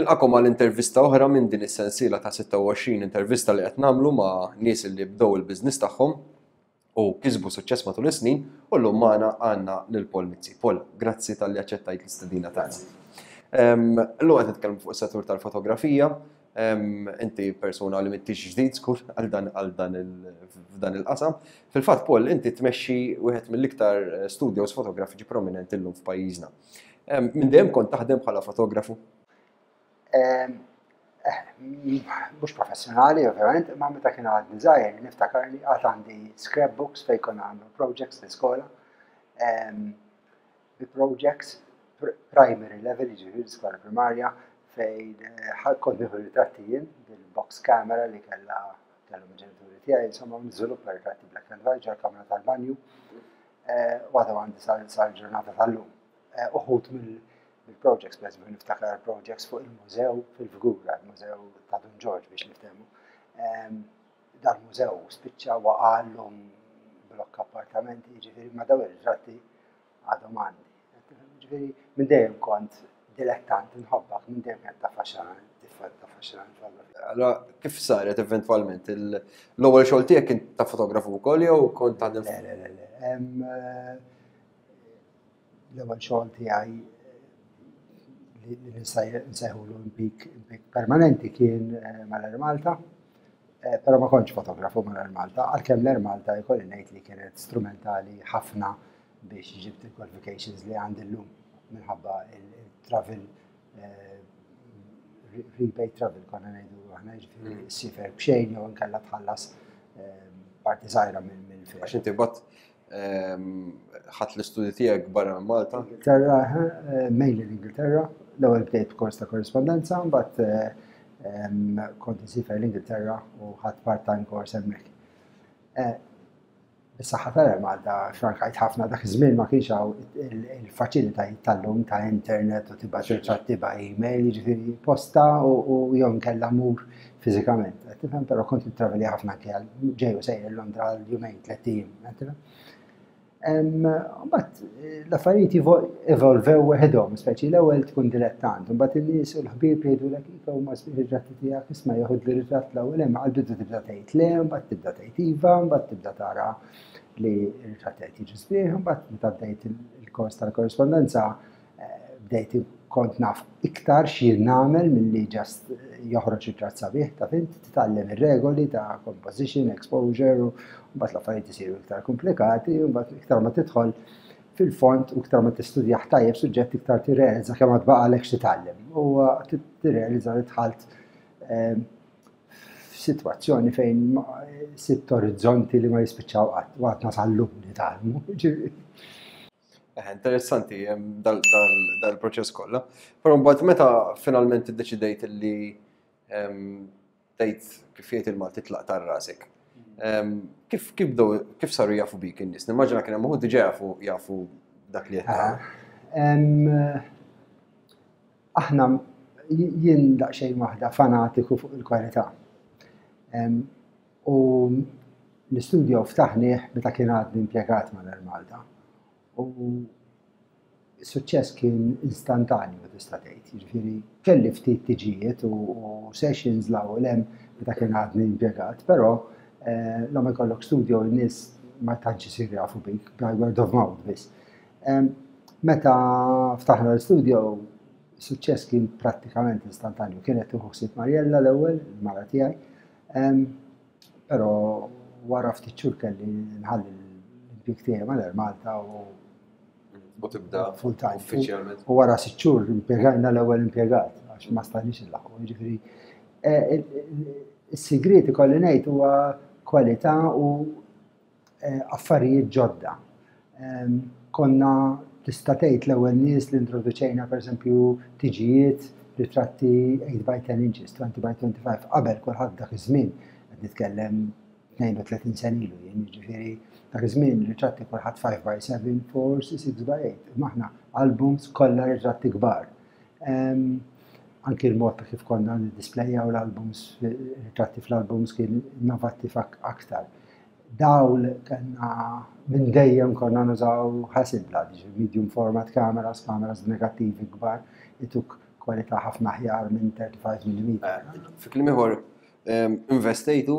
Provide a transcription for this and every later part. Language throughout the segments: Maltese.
Nilqakom għal intervista oħra minn din is-sensiela ta' 26 intervista li qed nagħmlu ma' nies li bdew il-business tagħhom u kisbu suċċess matul is-snin u llum magħna għandna lil Paul Mizzi. Paul, grazzi talli aċċettajt l-istedina tagħna. Illum qed nitkellmu fuq is-settur tal-fotografija. Inti persuna li m'intix ġdid skur għal dan għal dan f'dan il-qasam. Fil-fatt Paul, inti tmexxi wieħed mill-iktar eh, studios fotografiċi prominenti llum f'pajjiżna. Minn dejjem kont taħdem bħala fotografu? Eh, mhux professjonali, ovvjament, imma meta kien għadni żgħir niftakar li għad għandi scrapbooks fejn konna għamlu projects l-iskola. Bi projects primary level, jiġifieri l-iskola primarja, fejn eh, kont nieħu ritratti jien bil-box camera li kellha kellhom il-ġenituri tiegħi, insomma, niżviluppa ritratti black and white ġol-kamra tal-banju. Eh, u għadu għandi sal-ġurnata tal-lum. Eh, uħut mill-projects, per eżempju, niftakar projects fuq il-mużew fil-Fgura, il-mużew ta' Dun Ġorġ biex niftehmu. Ehm, dal-mużew spiċċa waqallhom blokk appartamenti, jiġifieri ma daw ir-ritratti għadhom għandi. Ġifieri minn dejjem kont dilettant nħobbak, minn dejjem kienet taffaxxinani, taffaxxinani Allora, kif saret eventwalment? L-ewwel xogħol tiegħek kien ta' fotografu wkoll jew kont taħdem? Le, le, le, le. Eh, l-ewwel xogħol tiegħi eh, li nsejħulu impik permanenti kien eh, mal-Air Malta, però ma kontx fotografu mal-Air Malta, għalkemm l-Air Malta jkolli ngħid li kienet strumentali ħafna biex ġibt il-qualifications li għandi llum minħabba il-travel eh, rebate travel konna ngħidu aħna ġifieri mm. sifer b'xejn jew inkella tħallas eh, parti żgħira minn fare. Għax inti bat ehm, ħadd l-istudji tiegħek barra minn Malta? Ingilterra, eh, mainly l-Ingilterra. L-ewwel bdejt b'kors ta' korrispondenza, mbagħad ehm, kont insifer l-Ingilterra u ħadd part-time course hemmhekk. Bis-saħħa tal-Air Malta frankajt ħafna dak iż-żmien ma kienx hawn il-faċilitajiet tal-lum ta' internet u tibgħat ritratti by email, jiġifieri posta u jew inkella mur fiżikament. Qed tifhem, però kont nittravelja ħafna anke għal ġej u sejjer Londra għal jumejn, tlett ijiem, qed tifhem? Mbagħad l-affarijiet evolvew weħidhom, speċi l-ewwel tkun dilettant, mbagħad in-nies u l-ħbieb jgħidulek iva huma sbieħ ir-ritratti tiegħek, isma' jeħodli ritratt l-ewwel hemm għall-bidu tibda tgħid le, mbagħad tibda tgħid iva, mbagħad tibda tara li r-ritratti qed jiġu sbieħ, mbagħad meta bdejt il-kors tal-korrispondenza eh, bdejt kont naf iktar x'jien nagħmel milli ġast joħroġ ritratt sabiħ ta' fint, titgħallem ir-regoli ta' composition, exposure, u mbagħad l-affarijiet isiru iktar komplikati, u mbagħad iktar ma tidħol fil-fond u iktar ma tistudjah tajjeb suġġett iktar tirrealizza kemm għad baqalek x'titgħallem. U tirrealizza li dħalt ehm, f'sitwazzjoni fejn sitt orizzonti li ma jispiċċaw qatt, u għadna sal-lum nitgħallmu. Eh, interessanti dal-proċess kollha. Però mbagħad meta finalment iddeċidejt li tgħid kif jgħid il-Malti tlaq tar rasek. Kif kif bdew kif saru jafu bik in-nies? Nimmaġina kien hemm uħud diġà jafu jafu dak li qed Aħna jien daqsxejn waħda fanatiku fuq il-kwalità. U l-istudio ftaħnieh meta kien għadni impjegat mal-Air Malta. U s-suċċess kien istantanju tista' tgħid. Jiġifieri kelli ftit tiġijiet u sessions 'l hawn u 'l hemm meta kien għadni impjegat, però eh, la ma jkollok studio n-nies ma tantx isiru jafu bik by word of mouth biss. Meta ftaħna l-studio, suċċess kien prattikament istantanju. Kienet tieħu ħsieb Mariella l-ewwel, il-mara tiegħi. Però wara ftit xhur kelli nħalli l-impjieg tiegħi mal-Air Malta u U tibda full time. Uffiċjalment. U wara sitt xhur impjegajna l-ewwel impjegat għax ma stajniex inlaħqu. Jiġifieri eh, is-sigriet ikolli ngħid huwa kwalità u eh, affarijiet ġodda. Konna tista' tgħid l-ewwel nies li introduċejna pereżempju tiġijiet ritratti 8 by 10 inches, 20 by 25, qabel kulħadd dak iż-żmien qed nitkellem 32 sen ilu jien, jiġifieri dak iż-żmien ritratti kulħadd 5 by 7, 4, 6 by 8. Imma aħna albums kollha ritratti kbar. Anki l-mod ta' kif konna niddisplayjaw l-albums, ritratti fl-albums kien innovattiv aktar. Dawl kellna minn dejjem konna nużaw Hasselblad, jiġifieri medium format cameras, cameras negattivi kbar, ituk kwalità ħafna aħjar minn 35 mm. Fi kliem ieħor, investejtu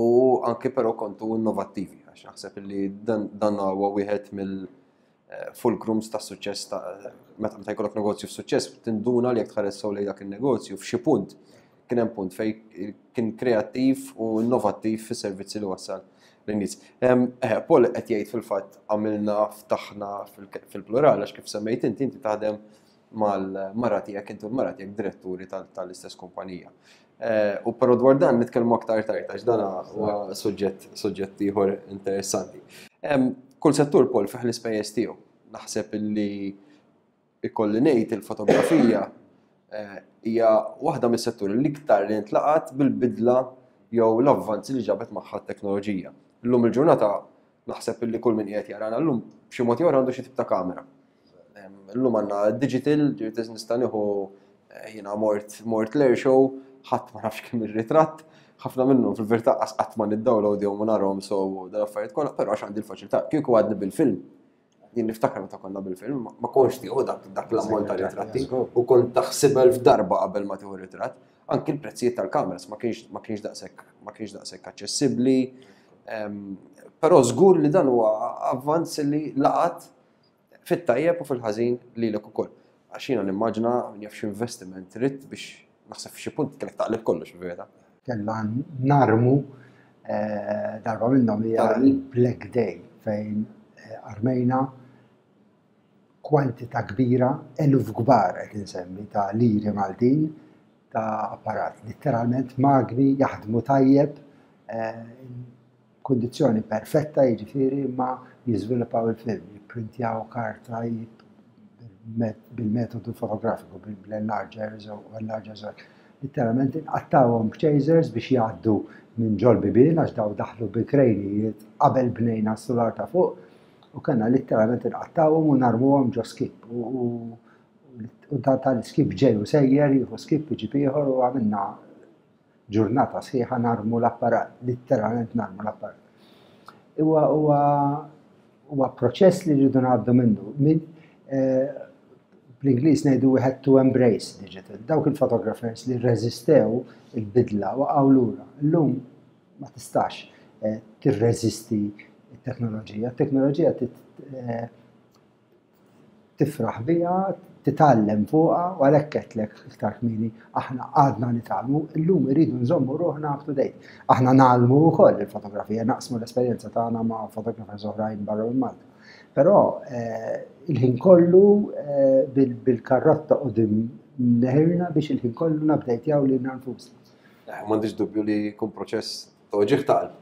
u anke però kontu innovattivi, għax naħseb li dan huwa wieħed mill fulcrums ta' suċċess ta' meta meta jkollok negozju f'suċċess tinduna li jekk tħares sew lejn dak in-negozju f'xi punt kien hemm punt fejn kien kreattiv u innovattiv fis-servizzi li wassal lin-nies. Paul qed jgħid fil-fatt għamilna ftaħna fil-plural għax kif semmejt inti inti taħdem mal-mara tiegħek inti u l-mara tiegħek diretturi tal-istess kumpanija. Eh, u però dwar dan nitkellmu aktar tard għax dan huwa suġġett suġġett ieħor interessanti. Kull settur Paul fih l-ispejjeż tiegħu. Naħseb illi ikolli ngħid il-fotografija eh, hija waħda mis-setturi l-iktar li ntlaqat bil-bidla jew l-avvanzi li ġabet magħha t-teknoloġija. Illum il-ġurnata naħseb illi kull min qiegħed jarana llum b'xi mod jew għandu xi tip ta' kamera. Illum għandna digital, ġifieri nista' nieħu eh, jiena mort mort l-air show, ħadd ma nafx kemm ir-ritratt, ħafna minnhom fil-verità qas qatt ma niddownload jew ma narhom so dan affarijiet kollha, però għax għandi l-faċilità. Kieku għadni bil-film, jien niftakar meta konna bil-film, ma kontx tieħu dak dak l-ammont ta' ritratti u kont taħsibel f'darba qabel ma tieħu ritratt. Anki l-prezzijiet tal-kameras ma kienx ma kienx daqshekk ma kienx daqshekk aċċessibbli. Ehm, però żgur li dan huwa avvanz li laqat fit-tajjeb u fil-ħażin lilek ukoll. Għax jiena nimmaġina min jaf x'investiment ridt biex naħseb f'xi punt kellek taqleb kollox fil-verità. Kellna narmu eh, darba minnhom hija Black Day fejn eh, armejna kwantità kbira, eluf kbar qed insemmi ta' liri Maltin ta' apparat. Litteralment magni jaħdmu tajjeb eh, Kundizzjoni perfetta jiġifieri imma jiżviluppaw il-film, jipprintjaw karta bil-metodu fotografiku, bl-enlargers u enlargers u hekk. Litteralment inqattgħuhom b'chasers biex jgħaddu minn ġol-bibien għax daw daħlu bi krejnijiet qabel bnejna s-sular ta' fuq u kellna litteralment inqattgħuhom u narmuhom ġo skip u dan tal-iskip ġej u sejjer jieħu skip iġib ieħor u għamilna ġurnata sħiħa narmu l-apparat, litteralment narmu l-apparat. Huwa huwa huwa proċess li rridu ngħaddu minnu. Min, eh, bl-Ingliż ngħidu we had to embrace digital. Dawk il-photographers li rreżistew il-bidla waqgħu lura. Illum ma tistax eh, tirreżisti t-teknoloġija. T-teknoloġija eh, tifraħ biha, titgħallem fuqha u għalhekk għedtlek iktar kmieni aħna għadna nitgħallmu, illum irridu nżommu ruħna up to date. Aħna ngħallmu wkoll il-fotografija, naqsmu l-esperjenza tagħna ma' fotographers oħrajn barra minn Malta. Però eh, il-ħin kollu eh, bil-karrotta qudiem neħirna biex il-ħin kollu nabdejtjaw lilna nfusna. Eh, m'għandix dubju li jkun proċess Toġiħ ta' qalb.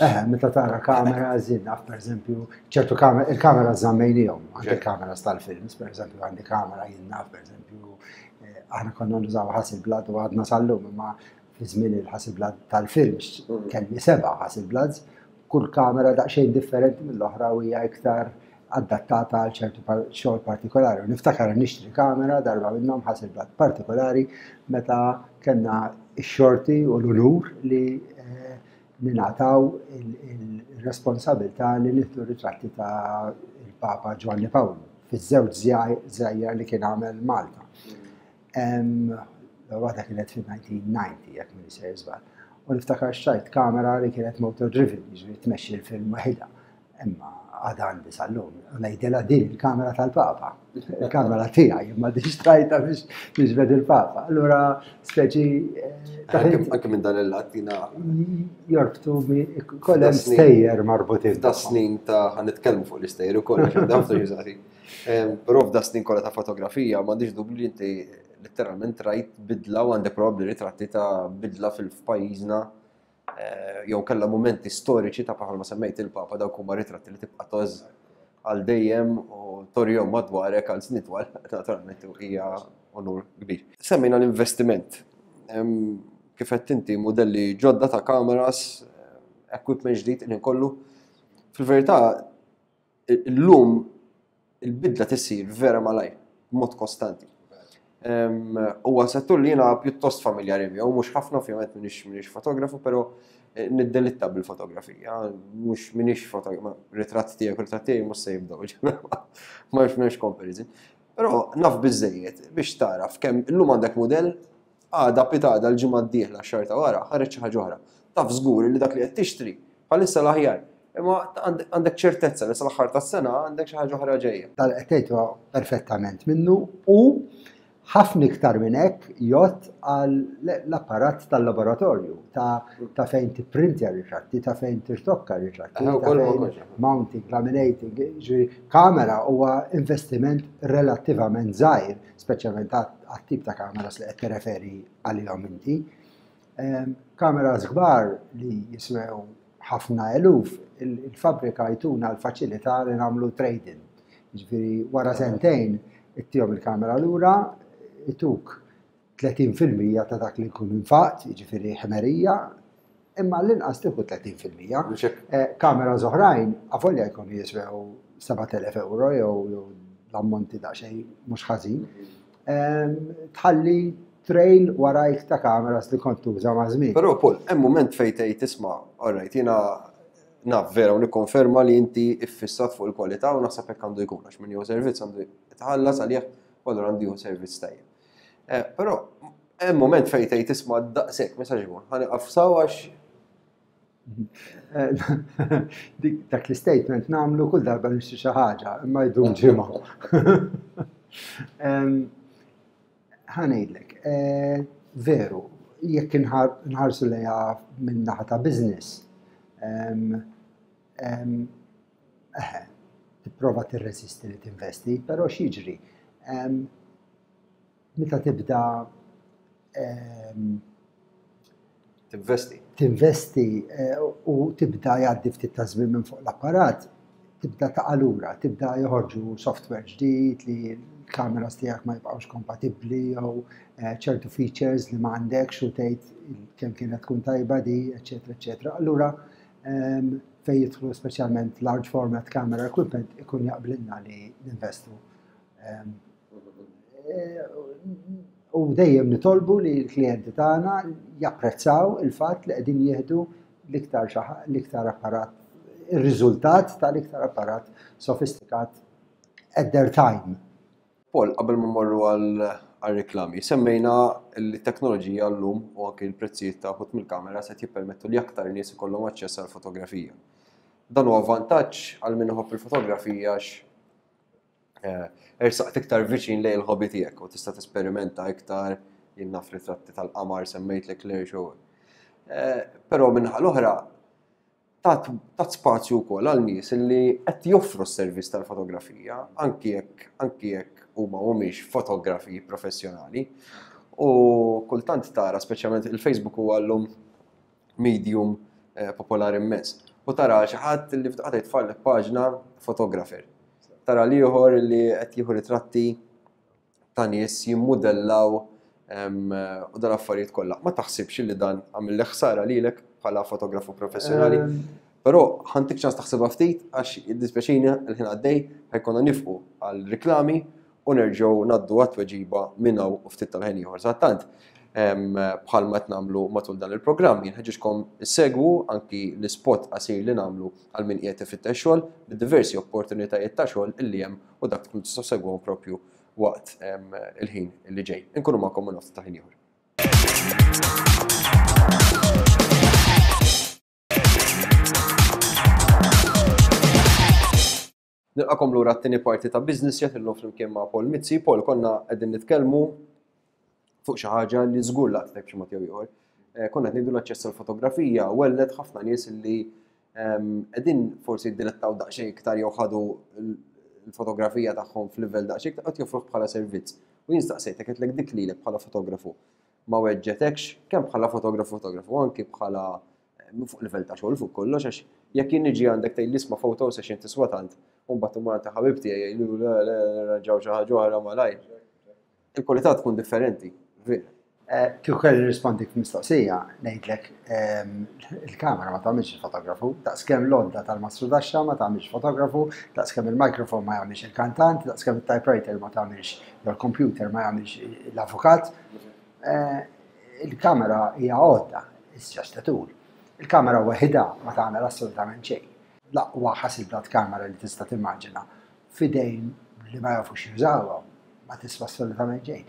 Eh, meta tara kamera, zin, naf per eżempju, ċertu kamera, il-kamera zammejnijom, anke kameras tal-films, per eżempju, għandi kamera jien naf, per eżempju, eh, aħna konna nużaw Hasselblad u għadna sal-lum, imma fi żmien il-Hasselblad tal-films, mm. kelli seba' Hasselblads, kull kamera daqsxejn differenti mill-oħra u hija iktar adattata għal ċertu xogħol partikolari. U niftakar nixtri kamera darba minnhom Hasselblad partikolari meta kellna x-xorti u l-unur li eh, ningħataw il-responsabilità li nieħdu ritratti ta' il-Papa Ġwanni Pawlu fiż-żewġ żjajjar li kien għamel Malta. L-waħda kienet fil-1990, jekk minn sejjer żball. U niftakar xtrajt kamera li kienet motor driven, jiġifieri tmexxi l-film waħidha. Imma għadha għandi sal-lum. U ngħidilha din il-kamera tal-Papa. Il-kamera tiegħi, imma din xtrajta biex niġbed il-Papa. Allura speċi. Eh, anke minn dan il-lat jina. Jorbtu kollha stejjer marbutin. Da snin ta' ħanitkellmu fuq l-istejjer ukoll, għax ħafna jużati. Però f'da snin kollha ta' fotografija m'għandix dubju li inti letteralment rajt bidla u għandek probabbli ritratti ta' bidla fil-pajjiżna eh, jew kellha mumenti storiċi ta' bħalma semmejt il-Papa dawk huma ritratti li tibqa' toż għal dejjem u torjom madwarek għal snin twal, naturalment hija onur kbir. Semmejna l-investiment. Kif qed inti modelli ġodda ta' kameras, eh, equipment ġdid li kollu. Fil-verità, Illum il-bidla tissir vera malajr, b'mod kostanti. Huwa settur li jiena pjuttost familjari miegħu, mhux ħafna ovvjament m'iniex m'iniex fotografu, però eh, niddelitta bil-fotografija, mhux m'iniex fotografu, ritratt tiegħek, ritratt tiegħi mhux se jibdew, ma m'hemmx comparison. Però naf biżżejjed biex tagħraf kemm illum għandek mudell, għada pitgħada l-ġimgħa d-dieħla x-xahar ta' wara ħareġ xi ħaġa oħra. Taf żgur li dak li qed tixtri bħalissa l-aħjar. Imma għandek ċertezza li sal-aħħar tas-sena għandek xi ħaġa oħra ġejja. Dan qed tgħid huwa perfettament minnu u Ħafna iktar minn hekk jgħodd għal l-apparat tal-laboratorju, ta' fejn tipprintja ritratti, ta' fejn tirtokka ritratti, ta' fejn mounting, laminating, ġifieri kamera huwa investiment relattivament żgħir, speċjalment għat-tip ta' kameras li qed tirreferi għalihom inti. Ehm, kameras kbar li jiswew ħafna eluf, il-fabbrika jtuna l-faċilità li nagħmlu trade-in. Ġifieri wara sentejn ittihom il-kamera lura, ituk 30% ta' dak li jkun infaqt, jiġifieri ħmerija, imma l-inqas tieħu 30%. Eh, kamera oħrajn, avolja jkunu jiswew 7000 euro jew l-ammonti daqsxejn mhux ħażin. Ehm, tħalli trail warajk ta' kameras li kont tuża ma' żmien. Però Paul, hemm mument fejn tgħid isma' alright, jiena naf vera u nikkonferma li inti iffissat fuq il-kwalità u naħseb hekk għandu jkun għax min jieħu servizz għandu jitħallas għalih u allura għandu jieħu servizz tajjeb. Eh, però hemm mument fejn tgħid isma' daqshekk ma jistax ikun, ħa nieqaf saw għax eh, Dak l-statement nagħmlu kull darba nixtri xi ħaġa, imma jdum ġimgħa. Ħa ngħidlek, eh, veru, jekk inħarsu lejha minn naħa ta' business, eħe, tipprova tirreżisti li tinvesti, però x'jiġri? Meta tibda Tinvesti. Tinvesti eh, u tibda jgħaddi ftit ta' żmien minn fuq l-apparat, tibda taqa' lura, tibda joħorġu software ġdid li l-kameras tiegħek ma jibqgħux kompatibbli jew eh, ċertu features li ma għandekx u tgħid kemm kienet tkun tajba di, eċetera, eċetera. Allura ehm, fejn jidħlu speċjalment large format camera equipment ikun jaqblilna li ninvestu. Ehm, eh, u dejjem nitolbu li l-klijenti tagħna japprezzaw il-fatt li qegħdin jieħdu l-iktar l-iktar apparat, ir-riżultat tal-iktar apparat sofistikat at their time. Paul, qabel ma mmorru għal-reklami, semmejna li t-teknoloġija llum u anki l-prezzijiet ta' wħud mill-kameras qed jippermettu li aktar nies ikollhom aċċess għall-fotografija. Dan huwa vantaġġ għal min iħobb il-fotografija għax eh, ersaqt iktar viċin lejn il-hobby tiegħek u tista' tesperimenta iktar jien naf ritratti tal-qamar semmejtlek Claire Show. Eh, però minnaħa l-oħra tat spazju wkoll għal nies li qed joffru s-servizz tal-fotografija anki jekk anki jekk huma mhumiex fotografi professjonali. U kultant tara speċjalment il-Facebook huwa llum medium eh, popolari immens. U tara xi ħadd li f'daqqa jitfallek paġna fotografer. Tara l-ieħor li qed jieħu ritratti ta' nies jimmudellaw u dal-affarijiet kollha. Ma taħsibx li dan għamil ħsara lilek bħala fotografu professjonali? Però ħantik ċans taħsibha ftit għax id-dispjaċini l-ħin għaddej ħajkonna nifqu għal riklami u nerġgħu ngħaddu għat-tweġiba minn hawn u ftit tal-ħin ieħor. Sadanittant, bħalma qed nagħmlu matul dan il-programm, jinħeġġiġkom issegwu anki l-ispot qasir li nagħmlu għal min qiegħed ifittex xogħol bid-diversi opportunitajiet ta' xogħol illi hemm u dak tkun tistgħu segwhom propju waqt il-ħin li ġej. Inkunu magħkom minn ftit ta' ħin ieħor. Nilqakom lura t-tieni parti ta' Business Chat illum flimkien ma' Paul Mizzi. Paul, konna qegħdin nitkellmu fuq xi ħaġa li żgur laqtek b'xi mod jew ieħor. Eh, konna qed ngħidu l-aċċess għall-fotografija welled ħafna nies li ehm, qegħdin forsi jiddilettaw daqsxejn iktar jew ħadu l-fotografija tagħhom f'livell daqsxejn iktar qed joffruh bħala servizz. U jien staqsejtek qedlek dik lilek bħala fotografu ma weġġetekx kemm bħala fotografu fotografu anki bħala fuq livell ta' xogħol fuq kollox għax jekk jien niġi għandek tgħid l-isma' photo session tiswa tant u mbagħad imur għand ħabib tiegħi jgħidlu le le nirranġaw xi ħaġa oħra malajr. Il-kwalità tkun differenti, vera. Eh, kieku kelli nirrispondik f'mistoqsija, ngħidlek ehm, il-kamera ma tagħmilx il-fotografu, daqskemm l-għodda tal-mastrudaxxa ma tagħmilx fotografu, daqskemm il-mikrofon ma jagħmilx il-kantant, daqskemm il-typewriter ma tagħmilx jew il-computer ma jagħmilx l-avukat. Eh, il-kamera hija għodda, it's just a tool. Il-kamera waħidha ma tagħmel assolutament xejn. L-aqwa Hasselblad kamera li tista' timmaġina f'idejn li ma jafux jużawha. Ma tiswa assolutament xejn.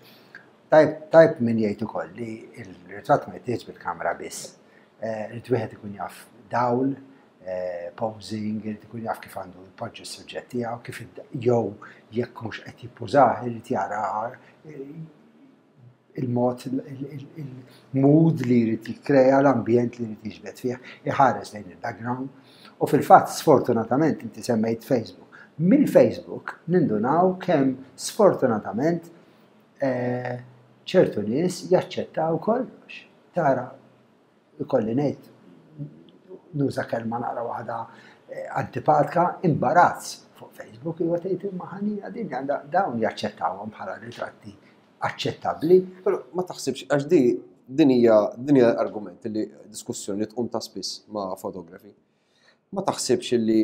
Tajb, tajb min jgħid ukoll li l-ritratt ma jittieħedx bil-kamera biss. Eh, irid wieħed ikun jaf dawl, eh, posing, irid ikun jaf kif għandu jpoġġi s-suġġett tiegħu, kif jew jekk mhux qed jippużah, irid jara eh, il-mod, il-mood li jrid jikkrea, l-ambjent li jrid jiġbed fih, iħares lejn il-background. U fil-fatt, sfortunatament, inti semmejt Facebook. Mill-Facebook nindunaw kemm sfortunatament eh, ċertu nies jaċċettaw kollox. Tara, ikolli ngħid nuża kelma naqra waħda eh, antipatika, imbarazz fuq Facebook, huwa tgħid imma ħanina din għandha dawn jaċċettawhom bħala ritratti aċċettabbli. Però ma taħsibx għax di din hija din hija argument li diskussjoni li tqum ta' spiss ma' fotografi. Ma taħsibx li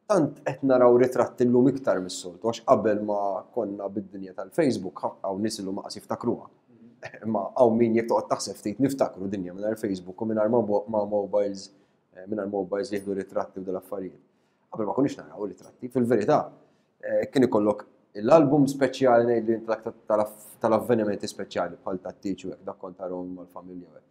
tant qed naraw ritratti llum iktar mis-soltu għax qabel ma konna bid-dinja tal-Facebook hawn nies illum qas jiftakruha. Imma hawn min jekk toqgħod taħseb ftit niftakru dinja mingħajr Facebook u mingħajr ma' mobiles eh, mingħajr mobiles li jieħdu ritratti u dal-affarijiet. Qabel ma konniex naraw ritratti, fil-verità eh, kien ikollok l-album speċjali ngħid li tal-avvenimenti speċjali bħal tat-tieġ u hekk dak kont tarahom mal-familja.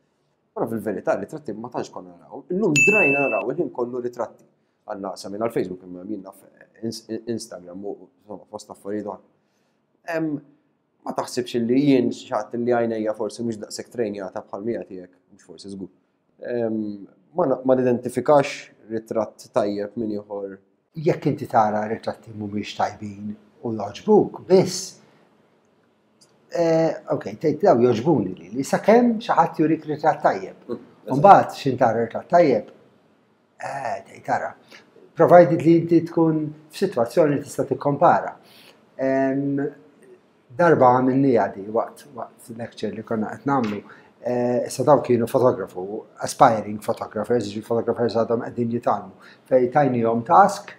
Però fil-verità ritratti ma tantx konna naraw. Illum drajna naraw il-ħin kollu ritratti. Għandna qasam għal Facebook imma jien naf Instagram u insomma fost affarijiet oħra. Ma taħsibx li jien xi ħadd li għajnejja forsi mhux daqshekk trejnjata bħal mija tiegħek, mhux forsi żgur. Ma nidentifikax ritratt tajjeb minn ieħor. Jekk inti tara ritratti mhumiex tajbin u jogħġbuk biss, Eh, ok, tgħid daw jogħġbuni li li sakemm xi ħadd jurik ritratt tajjeb. Mm, Mbagħad x'in tara ritratt tajjeb, eh, tgħid tara. Provided li inti tkun f'sitwazzjoni li tista' tikkompara. Darba għamilniha di waqt waqt lecture li konna qed nagħmlu. Eh, issa daw kienu fotografu, aspiring photographers, ġi photographers għadhom qegħdin jitgħallmu. Fej tajnihom task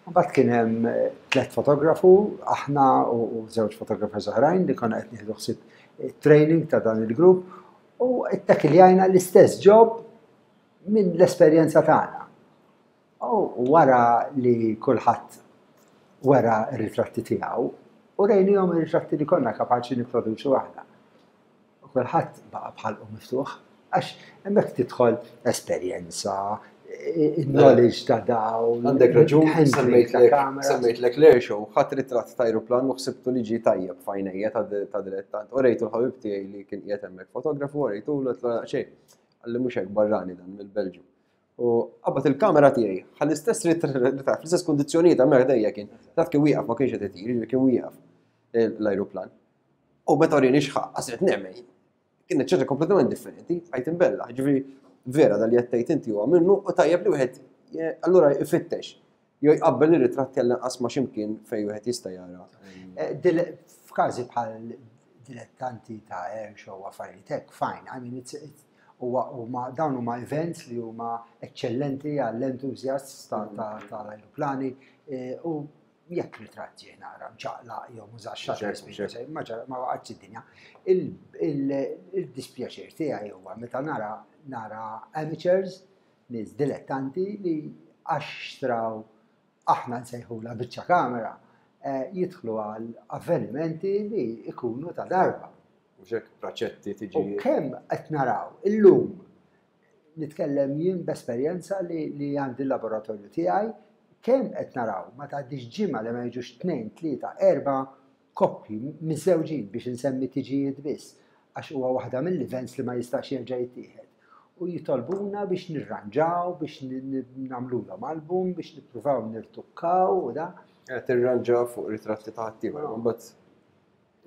Mbagħad kien hemm eh, tliet fotografu, aħna u żewġ fotografers oħrajn li konna qed nieħdu ħsieb eh, training ta' dan il-grupp u ittakiljajna l-istess job minn l-esperjenza tagħna. U wara li kulħadd wera r-ritratti tiegħu, u rejnihom ir-ritratti li konna kapaċi nipproduċu aħna. U kulħadd baqa' b'ħalqu miftuħ għax hemmhekk tidħol esperjenza, il-knowledge ta' daw. Għandek raġun, semmejtlek l-air show, ħadd ritratt ta' aeroplan u ħsibtu li ġie tajjeb f'għajnejja ta' dilettant. U rejtu l-ħabib tiegħi li kien qiegħed hemmhekk fotografu, u rejtu l xejn. Għalli mhux hekk barrani dan mill-Belġju. U qabad il-kamera tiegħi, ħalli istess ritratt, fl-istess kundizzjonijiet hemmhekk dejja kien. Dak kien wieqaf ma kienx qed itir, kien wieqaf l-ajruplan. U meta urini xħaq, qasret nemmen. Kienet ċerta kompletament differenti, għajt imbella. Ġifieri vera dal li qed inti huwa minnu u tajjeb li wieħed allura ifittex. Jew jqabbel ir-ritratti għal inqas ma' x'imkien fejn wieħed jista' jara. Eh, f'każi bħal dilettanti ta' air show affarijiet hekk, fine, I mean it's, it's huma dawn huma events li huma eċċellenti għall-enthusiasts tal-ajruplani eh, u jekk ritratt ġie nara mċaqlaq jew mużax shutter speed, ma ġara ma waqgħetx id-dinja. Il-dispjaċir tiegħi huwa meta nara nara amateurs, nies dilettanti li għax xtraw aħna nsejħula biċċa kamera, eh, jidħlu għal avvenimenti li ikunu ta' darba. Mhux hekk praċetti tiġi. U kemm qed naraw illum nitkellem jien b'esperjenza li, li għandi l-laboratorju tiegħi, kemm qed naraw ma tgħaddix ġimgħa li ma jiġux tnejn, tlieta, erba' koppji miżżewġin biex insemmi tiġijiet biss, għax huwa waħda mill-events li ma jistax jerġa' jittieħed. U jitolbuna biex nirranġaw, biex nagħmlulhom album, biex nippruvaw nirtukkaw u da. Qed tirranġa fuq ritratti ta' ħaddieħor, imbagħad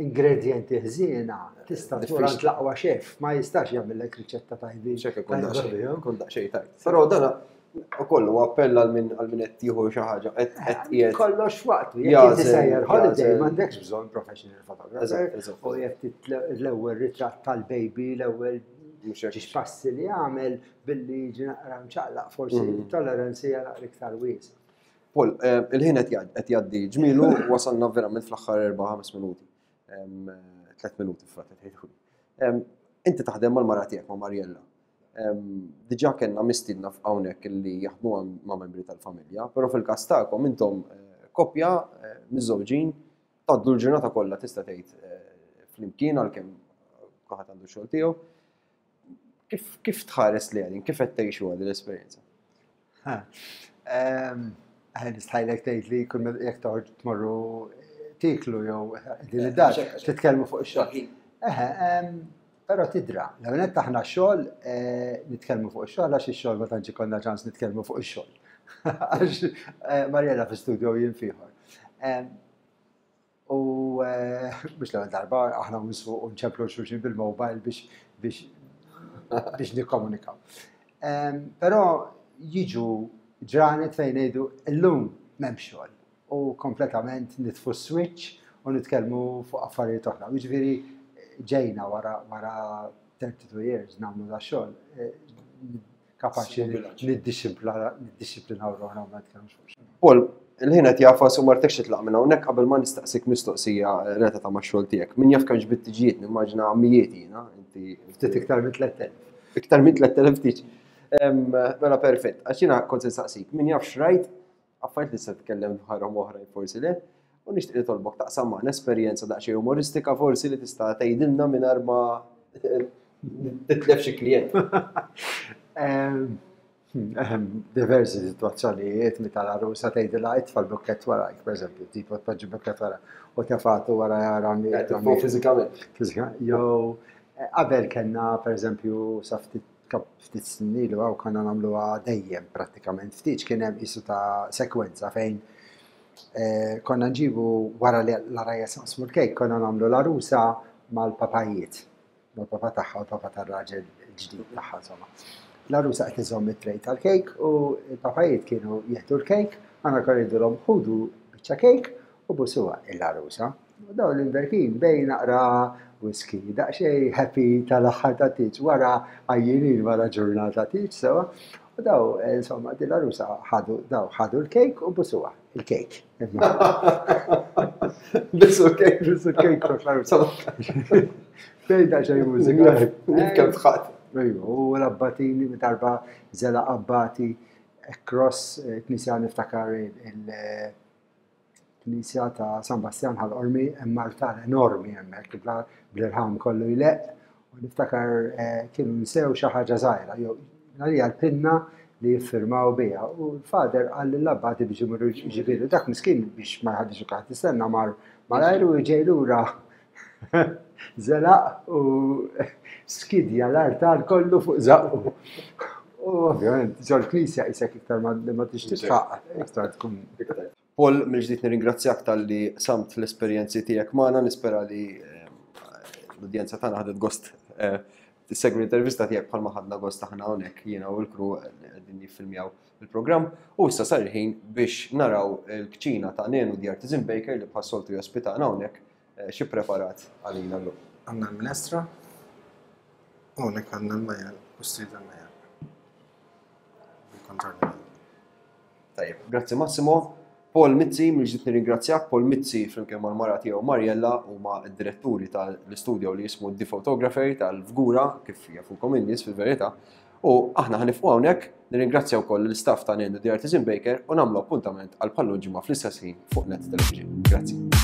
Ingredjenti ħżiena, tista' tmur għand l-aqwa xef, ma jistax jagħmillek riċetta tajbin. Xek ikun daqsxejn tajb. Però dan ukoll huwa appell għal min għal min qed jieħu xi ħaġa qed qed eh, qiegħed. Kollox waqtu, jekk inti sejjer holiday m'għandekx bżonn professional photographer. U jekk l-ewwel ritratt tal-baby, l-ewwel ġiex passi li għamel billi jiġi naqra mċaqlaq forsi mm. toleranzi hija naqra iktar wiesa'. Paul, eh, il-ħin qed jgħaddi ġmilu wasalna verament fl-aħħar 4-5 minuti. 3 minuti frat qed Inti taħdem mal-mara tiegħek ma' Mariella. Diġà kellna mistiedna hawnhekk li jaħdmu ma' membri tal-familja, però fil-każ tagħkom intom eh, koppja eh, miżżewġin Tgħaddu l-ġurnata kollha tista' tgħid eh, flimkien għalkemm kulħadd għandu xogħol tiegħu. Kif, kif tħares li għadin, kif qed tgħixu għad l-esperjenza? Ehm, nistħajlek tgħid li kull jekk toħorġ tmorru tiklu jew din eh, id-dar titkellmu fuq ix-xogħol. Eħe, ehm, però tidra, l-ewwel aħna xogħol eh, nitkellmu fuq ix-xogħol għax ix-xogħol ma tantx ikollna ċans nitkellmu fuq ix-xogħol. Għax eh, Marjella fi studio jien fieħor. Ehm, U biex l-ewwel darba aħna nsuq u nċemplu xulxin bil-mobile biex biex biex nikkomunikaw. Però jiġu ġranet fejn ngħidu llum m'hemm xogħol u kompletament nitfu switch u nitkellmu fuq affarijiet oħra. Jiġifieri ġejna wara wara 32 years nagħmlu da xogħol eh, kapaċi niddixxiplinaw ruħna u ma nitkellmux fuq xejn. Paul, il-ħin qed jafas u martekx titlaq minn hawnhekk qabel ma nistaqsik mistoqsija relatata max-xogħol tiegħek. Min jaf kemm ġbid tiġijiet, nimmaġina mijiet jiena, inti. Ftit iktar minn 3000. Iktar minn 3000 tiġ. Mela perfett, għax jiena kont se nsaqsik, min jaf xrajt affarijiet li se tkellem dwarhom oħrajn forsi le, u nixtieq nitolbok taqsam magħna esperjenza daqsxejn umoristika forsi li tista' tgħidilna mingħajr ma titlef xi klient. Ehm, diversi situazzjonijiet meta l-għarusa tgħidilha itfa' l-bukkett warajk, pereżempju, tipo tpoġġi bukkett wara u tefatu wara jara fiżikament. Fiżikament. Jew eh, qabel kellna pereżempju sa ftit Ftit snin ilu hawn konna nagħmluha dejjem prattikament ftit kien hemm qisu ta' sekwenza fejn eh, konna nġibu wara li l-għarajjes naqsmu l-kejk konna nagħmlu l-għarusa mal-papajiet, mal-papa tagħha u l-papa tar-raġel ġdid tagħha insomma. L-għarusa qed iżomm it-trej tal-kejk u l-papajiet kienu jieħdu l-kejk, aħna konna ngħidulhom ħudu biċċa kejk u busuha il-għarusa. U dawn l-imberkin bejn naqra whisky, daqsxejn happy tal-aħħar ta' tieġ, wara għajjinin wara ġurnata tieġ sewa. U daw, eh, insomma, din l-għarusa ħadu, daw ħadu l-kejk u busuha, il-kejk. Bisu l-kejk. Bisu l-kejk l-għarusa. Bejn daqsxejn mużika. Kemm tħadd. Ejju, u l-abbatini, darba zela abbati, across, eh, knisja niftakar il- Knisja ta' San Bastjan Ħal Qormi hemm artal enormi hemmhekk bl-irħam kollu jleqq u niftakar eh, kienu nsew xi ħaġa żgħira jew għalija l-pinna li jiffirmaw biha u l-fader qal lill-abbati biex imorru ġibilu dak miskin biex ma jħaddix u tistenna mar malajr u ġej lura zelaq u skidja l-artal kollu fuq zaqqu. U ovvjament, ġol knisja isek iktar ma tix titħaq, iktar tkun. Paul, mill-ġdid nirringrazzjak talli samt l-esperjenzi tiegħek magħna, nispera li eh, l-udjenza tagħna ħadet gost eh, tissegwi l-intervista tiegħek bħalma ħadna gost aħna hawnhekk jiena u l-kru qegħdin jiffilmjaw il-programm. U issa sar il-ħin biex naraw il-kċina ta' Nenu The Artisan Baker li bħas-soltu jospitana hawnhekk eh, xi preparat għalina llum. Għandna l-minestra, u hawnhekk għandna l-majjal, u strida l-majjal. Il-kontorni. Tajjeb, grazzi Massimo. Paul Mizzi, mill-ġdid nirringrazzjak. Paul Mizzi flimkien mal-mara tiegħu Mariella huma d-diretturi tal-istudio li jismu The Photographer tal-Fgura, kif jafukom in-nies fil-verità. U aħna ħanifqu hawnhekk, nirringrazzja wkoll l-istaff ta' Nenu The Artisan Baker u nagħmlu appuntament għal bħal ġimgħa fl-istess ħin fuq Net Television. Grazzi.